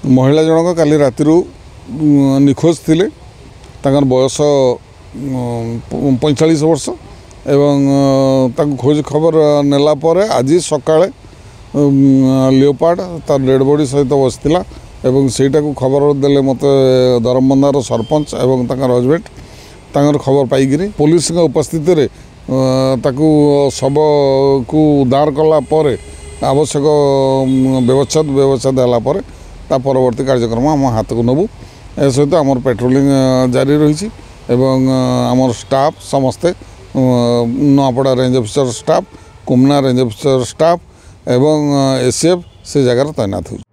ମହିଳା ଜଣକ କାଲି ରାତିରୁ ନିଖୋଜ ଥିଲେ। ତାଙ୍କର ବୟସ 45 ବର୍ଷ ଏବଂ ତାଙ୍କୁ ଖୋଜ ଖବର ନେଲା ପରେ ଆଜି ସକାଳେ ଲିଓପାର୍ଡ଼ ତାର ଡେଡ଼୍ ବଡ଼ି ସହିତ ବସିଥିଲା ଏବଂ ସେଇଟାକୁ ଖବର ଦେଲେ ମୋତେ ଧରମବନ୍ଧାର ସରପଞ୍ଚ ଏବଂ ତାଙ୍କର ହଜବେଣ୍ଡ। ତାଙ୍କର ଖବର ପାଇକିରି ପୋଲିସଙ୍କ ଉପସ୍ଥିତିରେ ତାକୁ ଶବକୁ ଉଦ୍ଧାର କଲା ପରେ ଆବଶ୍ୟକ ବ୍ୟବଚ୍ଛେଦ ହେଲା ପରେ ତା ପରବର୍ତ୍ତୀ କାର୍ଯ୍ୟକ୍ରମ ଆମ ହାତକୁ ନେବୁ। ଏ ସହିତ ଆମର ପେଟ୍ରୋଲିଂ ଜାରି ରହିଛି ଏବଂ ଆମର ଷ୍ଟାଫ୍ ସମସ୍ତେ, Nuapada range officer staff, Komna range officer staff ଏବଂ ଏସିଏଫ୍ ସେ ଜାଗାରେ ତୈନାତ ହେଉଛି।